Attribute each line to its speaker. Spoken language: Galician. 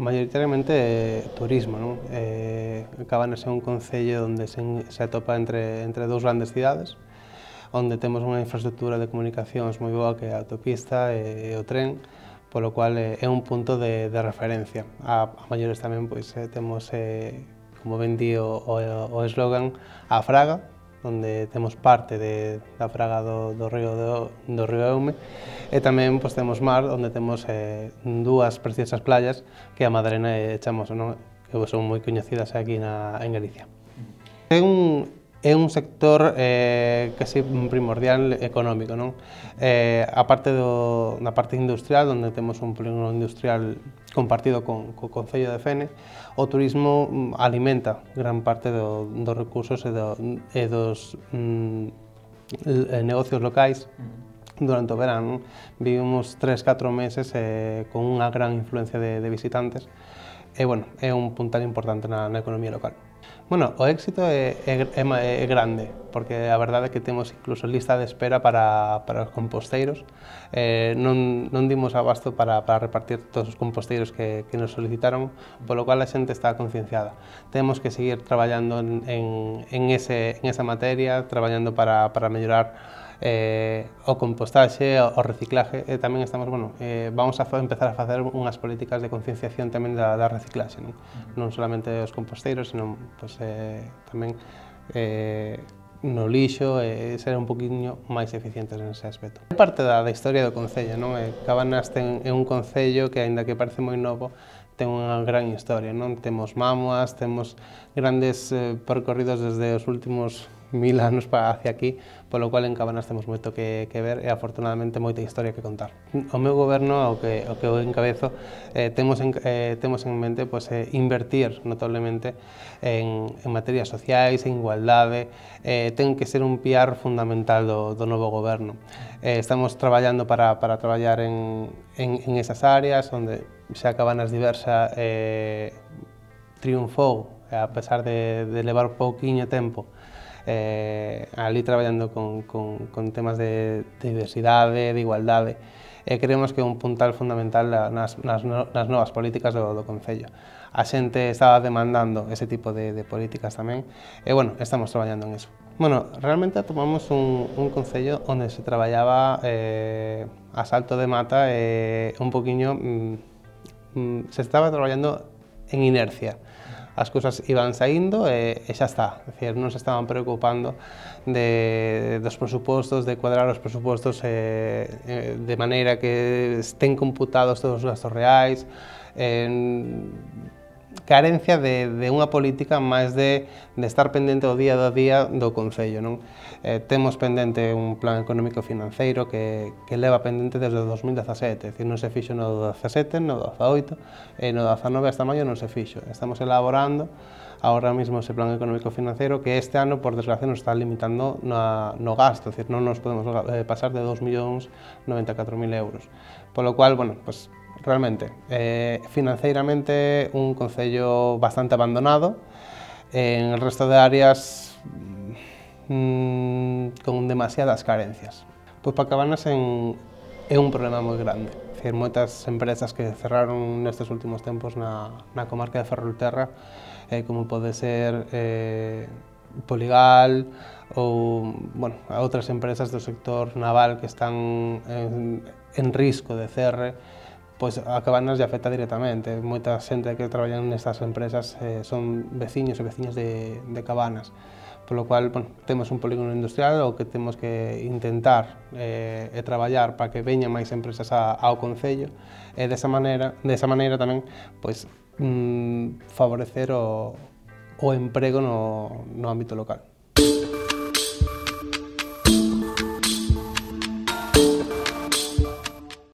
Speaker 1: maioritariamente turismo, non? Cabanas é un concello onde se atopa entre dous grandes cidades, onde temos unha infraestructura de comunicacións moi boa que é a autopista e o tren, polo cual é un punto de referencia. A maiores tamén pois, temos, como ben di o eslogan, a Fraga, onde temos parte da fraga do río Eume, e tamén pois, temos mar, onde temos dúas preciosas playas que a Madalena e Chamoso, non? Que son moi coñecidas aquí en Galicia. É un sector casi primordial económico, non? A parte da parte industrial, onde temos un polígono industrial compartido co Concello de Fene, o turismo alimenta gran parte dos recursos e dos negocios locais durante o verán. Vivimos 3-4 meses con unha gran influencia de visitantes e, bueno, é un puntal importante na economía local. Bueno, o éxito é grande, porque a verdade é que temos incluso lista de espera para os composteiros. Non dimos abasto para repartir todos os composteiros que nos solicitaron, polo cual a xente está concienciada. Temos que seguir traballando en esa materia, traballando para mellorar o compostaxe, o reciclaje, e tamén estamos, vamos a empezar a facer unhas políticas de concienciación tamén da reciclaxe, non solamente os composteiros, senón tamén no lixo, e ser un poquinho máis eficientes nese aspecto. É parte da historia do Concello, non? Cabanas é un concello que, aínda que parece moi novo, ten unha gran historia, non? Temos mámoas, temos grandes percorridos desde os últimos 1000 anos hacia aquí, polo cual en Cabanas temos moito que ver e afortunadamente moita historia que contar. O meu goberno, o que eu encabezo, temos en mente invertir notablemente en materias sociais, en igualdade, ten que ser un piar fundamental do novo goberno. Estamos traballando para traballar en esas áreas, onde xa Cabanas Diversa triunfou, a pesar de levar pouquiño tempo, ali traballando con temas de diversidade, de igualdade, e creemos que é un puntal fundamental nas novas políticas do Concello. A xente estaba demandando ese tipo de políticas tamén, e, bueno, estamos traballando en eso. Bueno, realmente tomamos un concello onde se traballaba a salto de mata e un poquinho se estaba traballando en inercia. As cousas iban saindo e xa está, é dicir, non se estaban preocupando dos presupostos, de cuadrar os presupostos de maneira que estén computados todos os gastos reais, carencia de unha política máis de estar pendente o día a día do Concello, non? Temos pendente un plan económico financeiro que leva pendente desde o 2017, é dicir, non se fixo no 17, no 18, e no 19 hasta maio non se fixo. Estamos elaborando agora mesmo ese plan económico financiero que este ano, por desgracia, nos está limitando no gasto, é dicir, non nos podemos pasar de 2.094.000 euros. Polo cual, bueno, pues, realmente, financeiramente, un concello bastante abandonado, en el resto de áreas con demasiadas carencias. Pois para Cabanas é un problema moi grande, é dicir, moitas empresas que cerraron nestes últimos tempos na comarca de Ferrolterra, como pode ser Poligal ou, bueno, outras empresas do sector naval que están en risco de cerre, pois a Cabanas lle afecta directamente. Moita xente que traballa nestas empresas son veciños e veciñas de Cabanas, polo cual, bueno, temos un polígono industrial o que temos que intentar e traballar para que veñan máis empresas ao Concello e desa maneira tamén pois, favorecer o emprego no ámbito local.